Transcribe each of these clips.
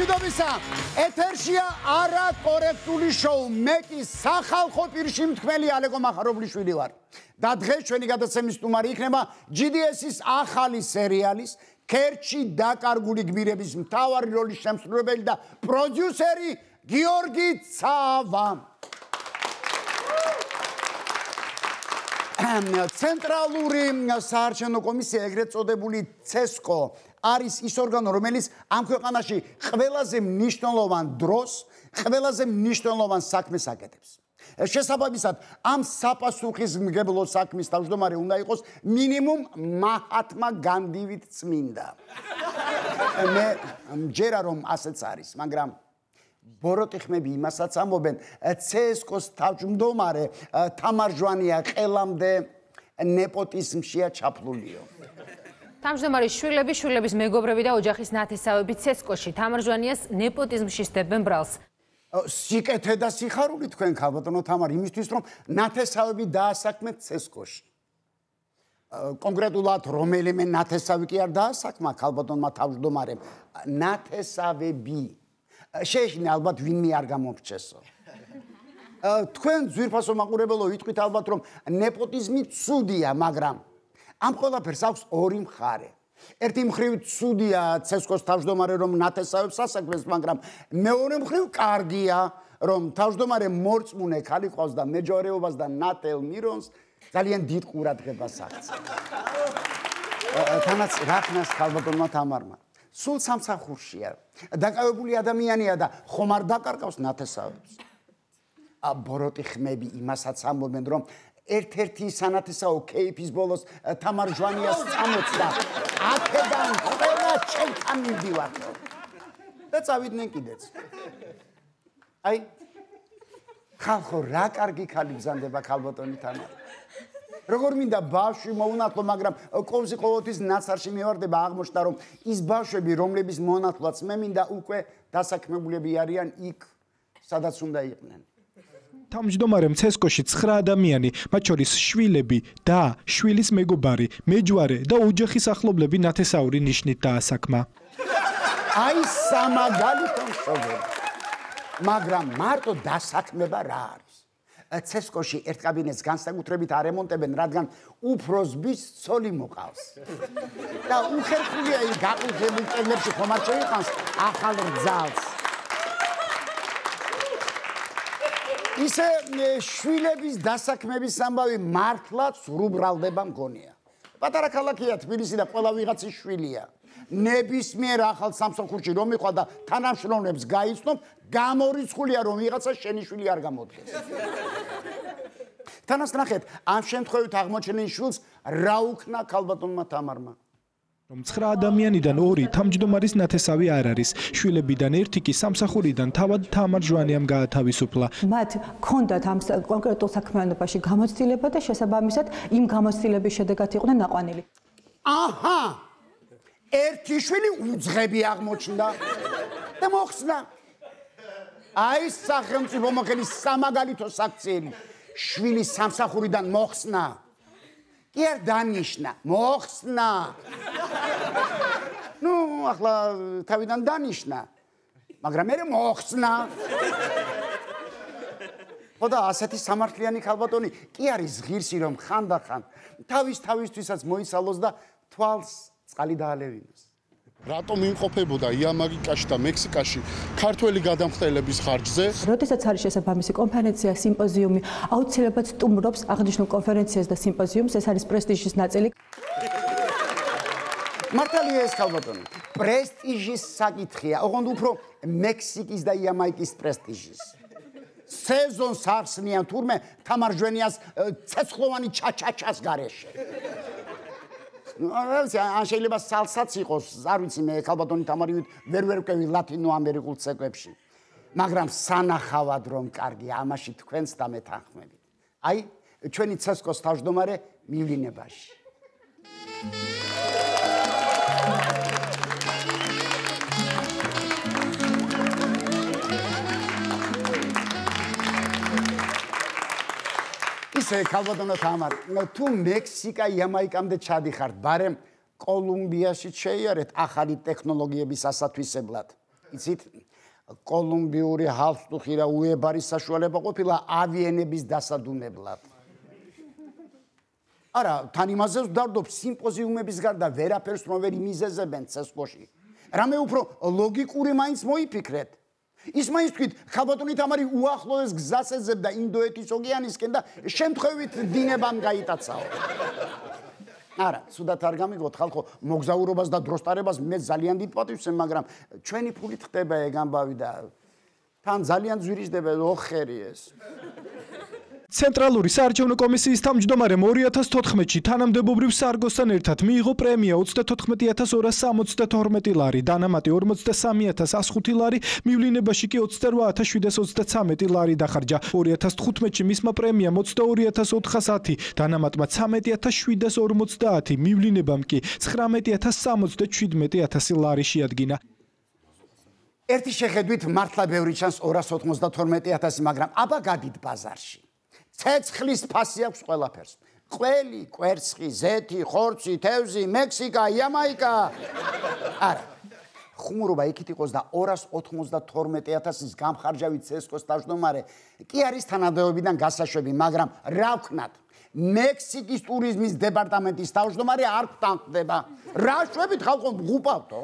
მშვიდობისა, ეთერშია არაკორექტული შოუ. მე კი სახალხო პირში მთქმელი ალეკო მახარობლიშვილი ვარ. და დღეს ჩვენი გადაცემის სტუმარი იქნება GDS-ის ახალი სერიალის ქერჩი დაკარგული გმირების მთავარი როლის შემსრულებელი და პროდიუსერი გიორგი ცავა. ცენტრალური საარჩევნო კომისია, ეგრეთ წოდებული CESCO, არის ის ორგანო, რომელიც ამ ქვეყანაში ყველაზე მნიშვნელოვან დროს, ყველაზე მნიშვნელოვან საქმეს აკეთებს. შესაბამისად, ამ საპასუხისმგებლო საქმის თავმჯდომარე უნდა იყოს მინიმუმ მაჰათმა განდივით წმინდა. მე მჯერა რომ ასეც არის, მაგრამ ბოროტი ხმები იმასაც ამბობენ, CESCO-ს თავმჯდომარე თამარ ჟვანია ყელამდე ნეპოტიზმშია ჩაფლულიო. თავმჯდომარის შვილები, შვილების მეგობრები და ოჯახის ნათესავები CESCO-ში თამარ ჟვანიას ნეპოტიზმში სდებენ ბრალს. სიკეთე და სიხარული თქვენ ქალბატონო თამარ, იმისთვის რომ ნათესავები დაასაქმეთ CESCO-ში. კონკრეტულად რომელიმე ნათესავი კი არ დაასაქმა ქალბატონმა თავმჯდომარემ, ნათესავები. შეეშინე ალბათ ვინმე არ გამომრჩესო. თქვენ ძვირფასო მაყურებელო ვიტყვით ალბათ რომ ნეპოტიზმი ცუდია, მაგრამ ამ ყველაფერს აქვს ორი მხარე. ერთი მხრივ ცუდია CESCO-ს თავმჯდომარე რომ ნათესავებს ასაქმებს, მაგრამ მეორე მხრივ კარგია რომ თავმჯდომარე მორწმუნე ქალი ყავს და მეჯორეობას და ნათელ მირონს ძალიან დიდ ყურადღებას აქცევს. თანაც რახნას ქალბატონმა თამარმა სულ სამსახურშია, დაკავებული ადამიანია და ხომ არ დაკარგავს ნათესავებს. ბოროტი ხმები იმასაც ამბობენ, რომ ერთ-ერთი სანათესაო კეიფის ბოლოს თამარ ჟვანიას წამოწდა, აქედან ყველა ჩემთან მივდივართ და წავიდნენ კიდეც. აი, ხალხო, რა კარგი ქალი ბრძანდება ქალბატონი თამარი. როგორ მინდა ბავშვი მოუნათლო, მაგრამ ყოველთვის ყოველთვის ნაცარში მივარდება აღმოჩნდა, რომ ის ბავშვები, რომლების მონათლაც მე მინდა უკვე დასაქმებულები არიან იქ, სადაც უნდა იყვნენ. თავმჯდომარემ CESCO-ში 9 ადამიანი, მათ შორის შვილები და შვილის მეგობარი, მეჯვარე და ოჯახის ახლობლები ნათესაური ნიშნით დაასაქმა. აი სამაგალითო მშობელი. მაგრამ მარტო დასაქმება რა არის? CESCO-ში ერთ კაბინეტს განსაკუთრებით არემონტებენ, რადგან უფროსბის ცოლი მოყავს. და უხერხულია ის გაყურძებულ კედლებში ხომ არ შეიყვანს ახალ რძალს. ისე შვილების დასაქმების ამბავი მართლაც რუბრალდება მგონია. პატარა ქალაქია თბილისი და ყველა ვიღაცის შვილია. ნებისმიერ ახალ სამსახურში რომ მიყვა და თანამშრომლებს გაიცნობ, გამორიცხულია რომ ვიღაცა შენი შვილი არ გამოდგეს. თანაც ნახეთ, ამ შემთხვევით აღმოჩენილ შვილს რა უქნა ქალბატონმა თამარმა. რომ 9 ადამიანიდან 2 თავმჯდომარის ნათესავი არ არის. შვილებიდან ერთი კი სამსახურიდან თავად თამარ ჟვანიამ გაათავისუფლა. მათ ჰქონდათ ამ კონკრეტულ საქმიანობაში გამოცდილება და შესაბამისად იმ გამოცდილების შედეგად იყვნენ ნაყვანილი. აჰა! ერთი შვილი უძღები აღმოჩნდა და მოხსნა. აი სახელმწიფო მოხელის სამაგალითო საქციელი. შვილი სამსახურიდან მოხსნა. კი არ დანიშნა, მოხსნა. ნუ, ახლა თავიდან დანიშნა. მაგრამ მე მოხსნა. ხო და ასეთი სამართლიანი ქალბატონი კი არის ღირსი რომ ხანდახან თავისთვისაც მოიცალოს და თვალს წყალი დაალევინოს. რატომ იმყოფებოდა იამაგიკაში და მექსიკაში ქართველი გადამხდელების ხარჯზე? როდესაც არის შესაბამისი კონფერენცია, სიმპოზიუმი, აუცილებლად სტუმრობს აღნიშნულ კონფერენციას და სიმპოზიუმს, ეს არის პრესტიჟის ნაწილი. მართალია ეს ქალბატონი, პრესტიჟის საკითხია, ოღონდ უფრო მექსიკის და იამაიკის პრესტიჟის. სეზონს ახსნიან თურმე თამარ ჟვანიას ცეცხლოვანი ჩაჩაჩას გარეშე. ან შეიძლება სალსაც იყოს, არ ვიცი მე ქალბატონი თამარი ვერ ვკევი ლათინო ამერიკულ ცეკვებში. მაგრამ სანახავად რომ კარგი, ამაში თქვენს და მე თანხმებით. აი, ჩვენი CESCO-ს თავმჯდომარე მივლინებაში. ისე ქალბატონო თამარ, თუ მექსიკა იამაიკამდე ჩადიხართ, ბარემ კოლუმბიაში შეიარეთ ახალი ტექნოლოგიების ასათვისებლად. იცით კოლუმბიური ჰალსტუხი და უებარის საშუალება ყოფილა ავიენების დასადუნებლად. არა, თან იმაზე ვდარდობ სიმპოზიუმების გარდა ვერაფერს რომ ვერ იმიზეზებენ CSKO-ში. რამე უფრო ლოგიკური მაინც მოიფიქრეთ. ის მაინც თქვით, ხალბატონი თამარი უახლოეს გზას ეძებდა ინდოეთის ოკეანისკენ და შემთხვევით დინებამ გაიტაცაო. არა, სუდათ არ გამიგოთ ხალხო, მოგზაურობას და დროსტარებას მე ძალიან დიდ პატივს ვცემ, მაგრამ ჩვენი ფულით ხდება ეგ ამბავი და თან ძალიან ძვირისდება ოხერი ეს. ცენტრალური საარჩევნო კომისიის თავმჯდომარემ 2014-ში თანამდებობრივ სარგოსთან ერთად მიიღო პრემია 34262 ლარი, დანამატი 43105 ლარი, მივლინებაში კი 28733 ლარი დახარჯა. 2015-ში მისმა პრემიამ 22410, დანამატმა 13750, მივლინებამ კი 19067 ლარი შეადგინა. ერთი შეხედვით მართლა ბევრი ჩანს 292.000, მაგრამ აბა გადით ბაზარში. ცეცხლის ფასი აქვს ყველაფერს. ყველი, კვერცხი, ზეთი, ხორცი, თევზი, მექსიკა, იამაიკა. არა. ხუმრობა იქით იყოს და 292.000-ის გამხარჯავი CSKO-s თავმჯდომარე კი არის თანამდებობიდან გასაშვები, მაგრამ რა ვქნათ? მექსიკის ტურიზმის დეპარტამენტის თავმჯდომარე არ გტანხდება. რა შვებით ხალხო მღუპავთო?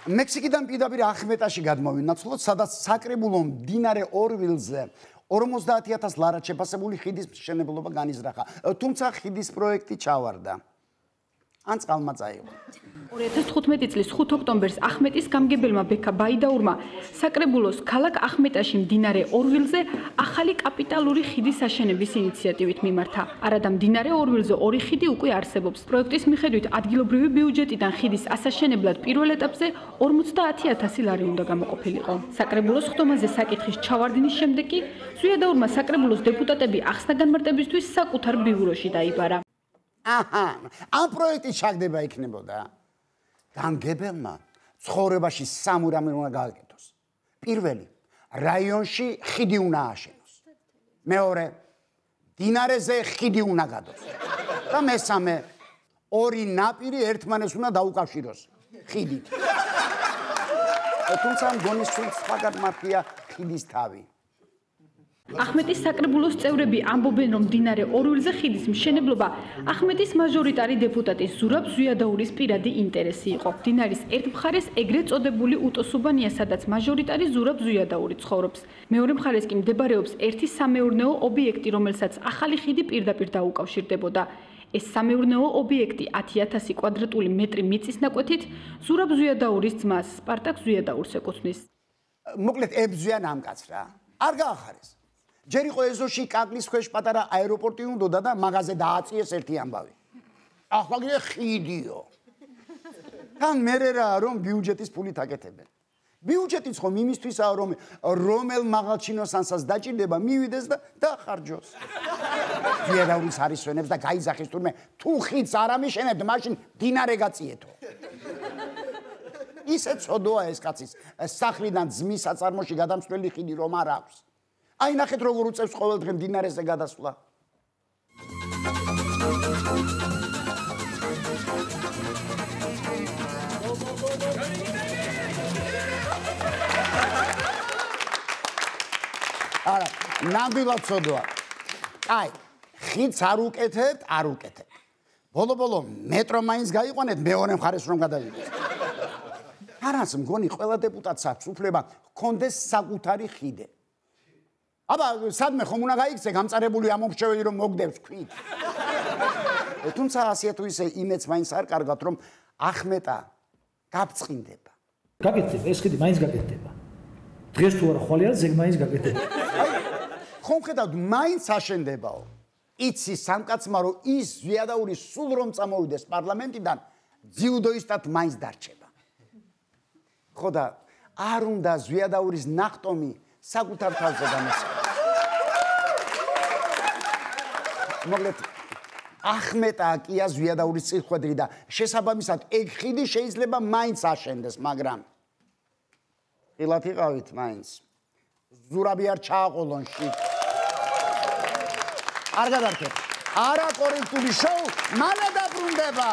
მექსიკიდან პირდაპირ ახმეტაში გადმოვინაცვლოთ, სადაც საკრებულო მდინარე ორვილზე 50000 ლარად შეფასებული ხიდის მშენებლობა განიზრახა. თუმცა ხიდის პროექტი ჩავარდა. ან წყალმა წაიღო. 2015 წლის 5 ოქტომბერს ახმეტის გამგებელმა ბექა ბაიდაურმა საკრებულოს ქალაქ ახმეტაში მდინარე ორვილზე ახალი კაპიტალური ხიდის აშენების ინიციატივით მიმართა. არადა მდინარე ორვილზე ორი ხიდი უკვე არსებობს. პროექტის მიხედვით ადგილობრივი ბიუჯეტიდან ხიდის ასაშენებლად პირველ ეტაპზე 50000 ლარი უნდა გამოყოფილიყო. საკრებულოს ხდომაზე საკითხის ჩავარდნის შემდეგ კი ზვიადაურმა საკრებულოს დეპუტატები ახსნა განმარტებისთვის საკუთარ ბიუროში დაიბარა. აჰა, ამ პროექტის ჩაგდება იქნებოდა. გამგებელმა ცხოვრებაში სამი რამე უნდა გააკეთოს. პირველი, რაიონში ხიდი უნდა ააშენოს. მეორე, დინარეზე ხიდი უნდა გადოს. და მესამე, ორი ნაპირი ერთმანეს უნდა დაუკავშიროს ხიდით. თუმცა მგონი სულ სხვაგან მართია ხიდის თავი. ახმეტის საკრებულოს წევრები ამბობენ, რომ მდინარე ორვილზე ხიდის მშენებლობა ახმეტის მაჟორიტარი დეპუტატის ზურაბ ზვიადაურის პირადი ინტერესი იყო. მდინარის ერთ მხარეს ეგრეთ წოდებული უტოსუბანია, სადაც მაჟორიტარი ზურაბ ზვიადაური ცხოვრობს. მეორე მხარეს კი მდებარეობს ერთი სამეურნეო ობიექტი, რომელსაც ახალი ხიდი პირდაპირ დაუკავშირდებოდა. ეს სამეურნეო ობიექტი 10000 კვადრატული მეტრი მიწის ნაკვეთით ზურაბ ზვიადაურის ძმას სპარტაკ ზვიადაურს ეკუთვნის. მოკლედ ებზვიან ამ კაცს რა. არ გაახარეს. ჯერ იყო ეზოში კაკლის ქვეშ პატარა აეროპორტი უნდოდა და მაღაზე დააწიეს ერთი ამბავი. ახლა კიდე ხიდიო. თან მერე რა რომ ბიუჯეტის ფულით აკეთებენ. ბიუჯეტიც ხომ იმისთვისაა რომ რომელ მაღალჩინოსანსაც დაჭირდება მივიდეს და დახარჯოს. ზვიადაურის არისვენებს და გაიზახის თურმე თუ ხიდს არ ამიშენებთ, მაშინ დინარე გაწიეთო. ისე წოდოა ეს კაცის სახლიდან ძმის საწარმოში გადამსვლელი ხიდი რომ არ აქვს. აი ნახეთ როგორ უწევს ყოველდღე მდინარეზე გადასვლა. არა, ნამდვილად ცოდოა. აი, ხიდს არ უკეთებთ, არ უკეთებთ. ბოლო-ბოლო მეტრო მაინც გაიყვანეთ მეორე მხარეს რომ გადავიდეს. არას მგონი ყველა დეპუტატს აქვს უფლება ჰქონდეს საკუთარი ხიდე. აბა, სადმე ხომ უნდა გაიქცე გამწარებული ამომრჩეველი რომ მოგდებს ქვით. თუმცა ასე თუ ისე იმეც მაინც არ კარგად რომ ახმეტა გაბწყინდება. გაკეთდება, ეს ხიდი მაინც გაკეთდება. დღეს თუ არა ხვალე არის, ეგ მაინც გაკეთდება. ხომ ხედავთ, მაინც აშენდებაო. იცი სამკაცმა რომ ის ზვიადაური სულ რომ წამოვიდეს პარლამენტიდან, ძიუდოისტად მაინც დარჩება. ხო და არ უნდა ზვიადაურის ნახტომი საკუთარ თავზე გამოსცეს. მოკლედ ახმეტა კია ზვიადაურის წილხვედრი და შესაბამისად ეგ ხიდი შეიძლება მაინც აშენდეს, მაგრამ ყილად იყავით მაინც. ზურაბი არ ჩააყოლონ შიგ. არ გადარჩეთ. არაკორექტული შოუ მალე დაბრუნდება.